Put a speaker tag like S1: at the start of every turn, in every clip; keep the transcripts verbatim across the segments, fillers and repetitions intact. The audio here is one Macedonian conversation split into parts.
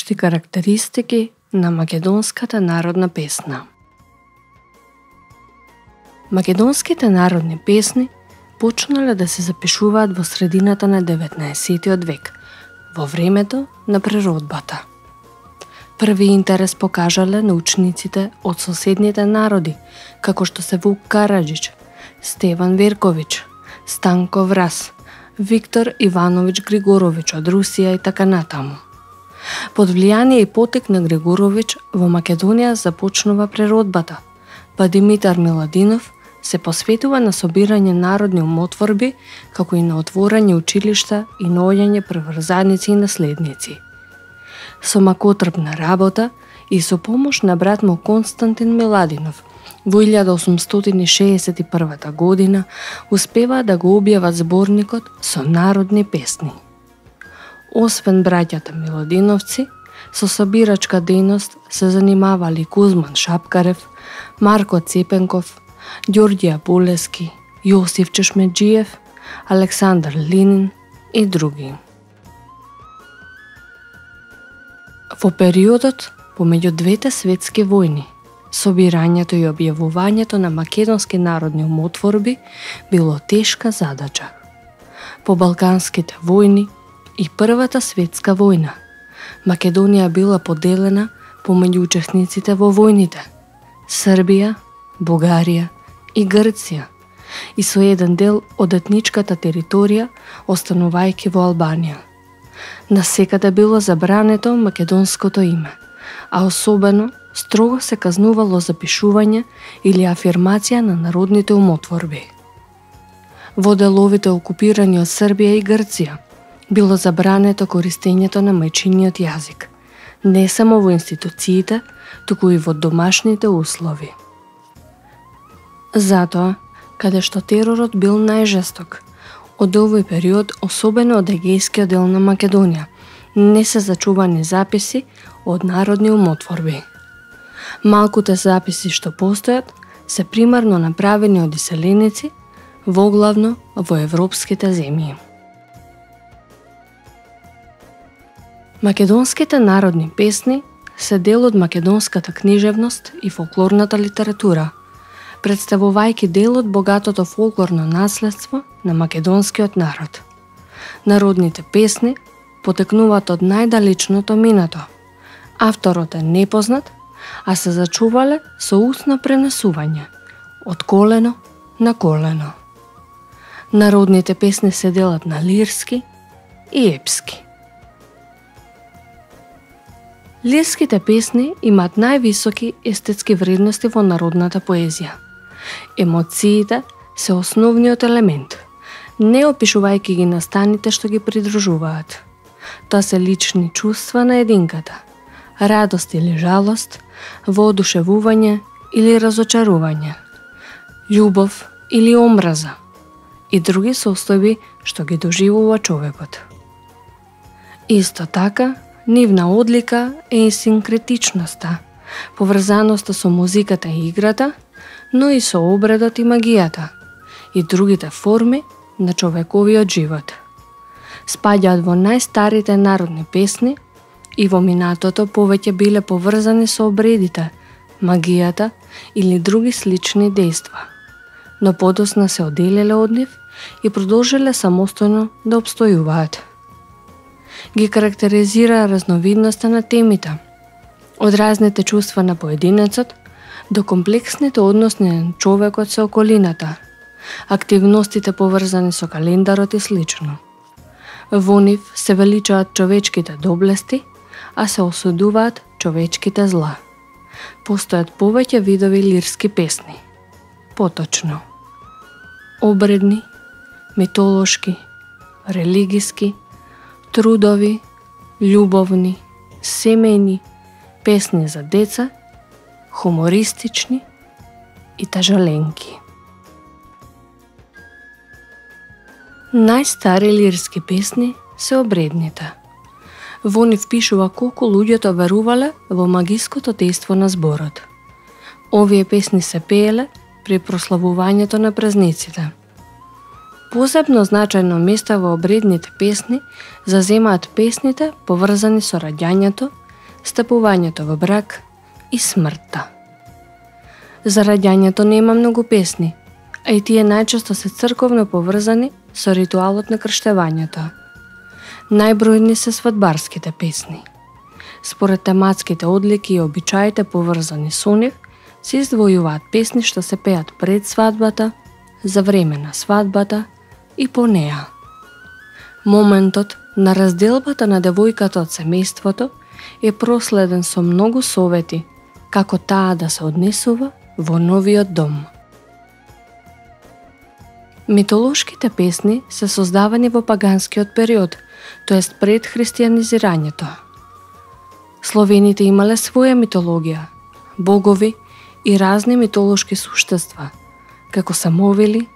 S1: најопшти карактеристики на македонската народна песна. Македонските народни песни почнале да се запишуваат во средината на деветнаесеттиот век, во времето на преродбата. Први интерес покажале научниците од соседните народи, како што се Вук Караџич, Стеван Верковиќ, Станко Врас, Виктор Ивановиќ Григоровиќ од Русија и така натаму. Под влијание и потек на Григоровиќ во Македонија започнува преродбата, па Димитар Миладинов се посветува на собирање народни умотворби, како и на отворање училишта и наоѓање преврзаници и наследници. Со макотрпна работа и со помош на брат му Константин Миладинов, во илјада осумстотини шеесет и прва година успеваа да го објават зборникот со народни песни. Освен браќата Миладиновци, со собирачка дејност се занимавали Кузман Шапкарев, Марко Цепенков, Ѓорѓе Апулески, Јосиф Чешмеџиев, Александар Линин и други. Во периодот помеѓу двете светски војни, собирањето и објавувањето на македонски народни умотворби било тешка задача. По Балканските војни и Првата светска војна, Македонија била поделена помеѓу учесниците во војните Србија, Бугарија и Грција и со еден дел од етничката територија останувајќи во Албанија. Насекаде било забрането македонското име, а особено строго се казнувало запишување или афирмација на народните умотворби. Во деловите окупирани од Србија и Грција било забрането користењето на мајчиниот јазик, не само во институциите, туку и во домашните услови. Затоа, каде што теророт бил најжесток, од овој период, особено од егејскиот дел на Македонија, не се зачувани записи од народни умотворби. Малкуте записи што постојат се примарно направени од иселеници, воглавно во европските земји. Македонските народни песни се дел од македонската книжевност и фолклорната литература, представувајќи дел од богатото фолклорно наследство на македонскиот народ. Народните песни потекнуваат од најдалечното минато. Авторот е непознат, а се зачувале со устно пренесување, од колено на колено. Народните песни се делат на лирски и епски. Лирските песни имаат највисоки естетски вредности во народната поезија. Емоциите се основниот елемент, не опишувајќи ги настаните што ги придружуваат. Тоа се лични чувства на единката, радост или жалост, воодушевување или разочарување, љубов или омраза и други состојби што ги доживува човекот. Исто така, нивна одлика е и синкретичноста, поврзаноста со музиката и играта, но и со обредот и магијата и другите форми на човековиот живот. Спаѓаат во најстарите народни песни и во минатото повеќе биле поврзани со обредите, магијата или други слични дејства, но подосна се оделиле од нив и продолжиле самостојно да обстојуваат. Ги карактеризира разновидноста на темите, од разните чувства на поединецот до комплексните односи на човекот со околината, активностите поврзани со календарот и слично. Во нив се величаат човечките доблести, а се осудуваат човечките зла. Постојат повеќе видови лирски песни. Поточно: обредни, митолошки, религиски, трудови, љубовни, семејни, песни за деца, хумористични и тажаленки. Најстари лирски песни се обредните. Во нив пишува колку луѓето верувале во магиското дејство на зборот. Овие песни се пееле при прославувањето на празниците. Посебно значајно место во обредните песни заземаат песните поврзани со раѓањето стапувањето во брак и смртта. За раѓањето нема многу песни, а и тие најчесто се црковно поврзани со ритуалот на крштевањето. Најбројни се свадбарските песни. Според тематските одлики и обичаите поврзани со нив, се издвојуваат песни што се пеат пред свадбата, за време на свадбата и по неа. Моментот на разделбата на девојката од семејството е проследен со многу совети како таа да се однесува во новиот дом. Митолошките песни се создавани во паганскиот период, тоест пред христијанизирањето. Словените имале своја митологија, богови и разни митолошки суштества, како самовили,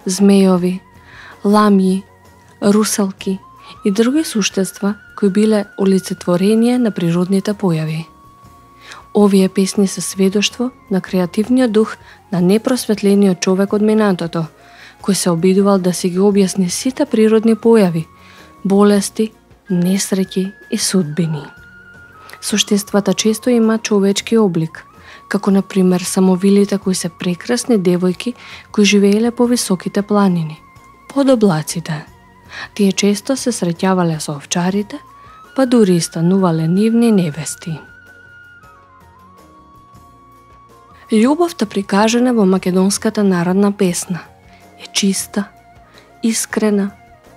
S1: змејови, ламји, русалки и други суштества кои биле олицетворение на природните појави. Овие песни се сведоштво на креативниот дух на непросветлениот човек од минатото, кој се обидувал да си ги објасни сите природни појави, болести, несреќи и судбини. Суштествата често имаат човечки облик, како на пример самовилите кои се прекрасни девојки кои живееле по високите планини, под облаците. Тие често се среќавале со овчарите, па дури и станувале нивни невести. Љубовта прикажана во македонската народна песна е чиста, искрена,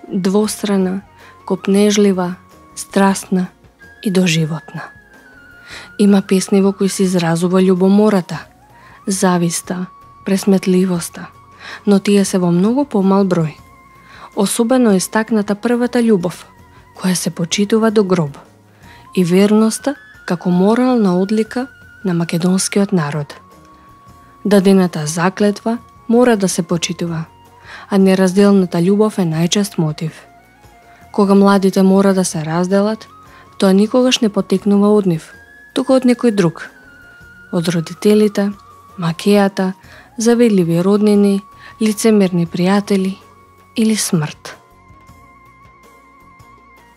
S1: двострана, копнежлива, страстна и доживотна. Има песни во кои се изразува љубомората, зависта, пресметливоста, но тие се во многу помал број. Особено истакната првата љубов, која се почитува до гроб, и верноста како морална одлика на македонскиот народ. Дадената заклетва мора да се почитува, а неразделната љубов е најчест мотив. Кога младите мора да се разделат, тоа никогаш не потекнува од нив, туку од некој друг. Од родителите, макејата, завидливи роднини, лицемерни пријатели или смрт.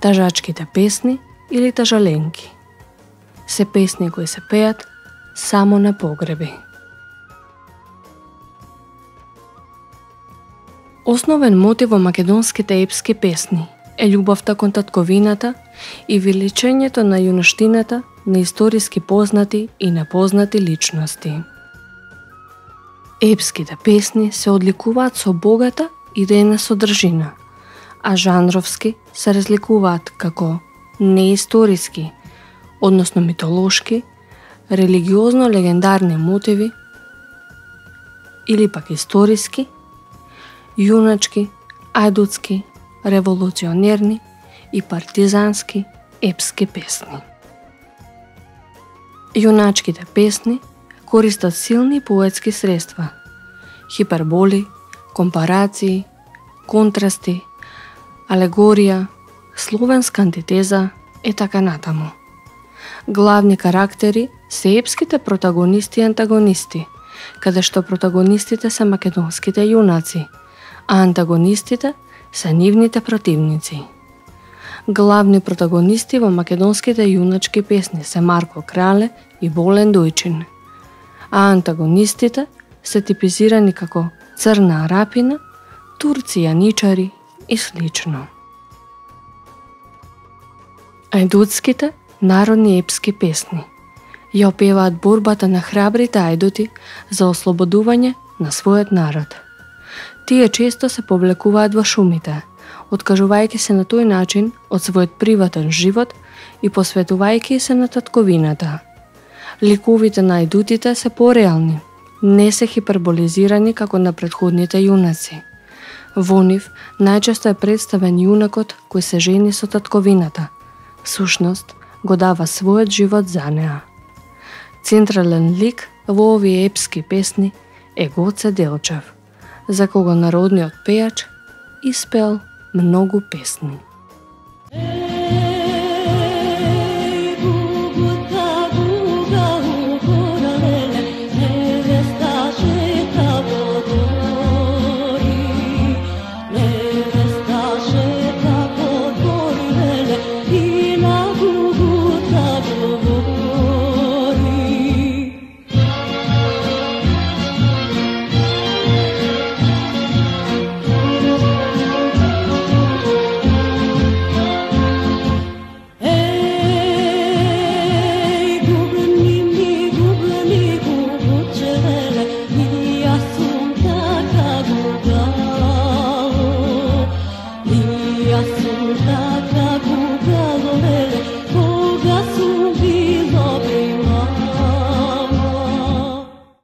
S1: Тажачките песни или тажаленки се песни кои се пеат само на погреби. Основен мотив во македонските епски песни е љубовта кон татковината и величењето на јуноштината на историски познати и непознати личности. Епските песни се одликуваат со богата идејна содржина, а жанровски се разликуваат како неисториски, односно митолошки, религиозно-легендарни мотиви или пак историски, јуначки, ајдутски, револуционерни и партизански епски песни. Јуначките песни користат силни поетски средства, хиперболи, компарации, контрасти, алегорија, словенска антитеза и така натаму. Главни карактери се епските протагонисти и антагонисти, каде што протагонистите се македонските јунаци, а антагонистите се нивните противници. Главни протагонисти во македонските јуначки песни се Марко Крале и Волен Дојчин, а антагонистите се типизирани како Црна Арапина, турци јаничари и слично. Ајдутските народни епски песни ја опеваат борбата на храбрите ајдути за ослободување на својот народ. Тие често се повлекуваат во шумите, откажувајќи се на тој начин од својот приватен живот и посветувајќи се на татковината. Ликовите на ајдутите се пореални, не се хиперболизирани како на претходните јунаци. Во нив најчесто е представен јунакот кој се жени со татковината, всушност го дава својот живот за неа. Централен лик во овие епски песни е Гоце Делчев, за кого народниот пејач испеал многу песни.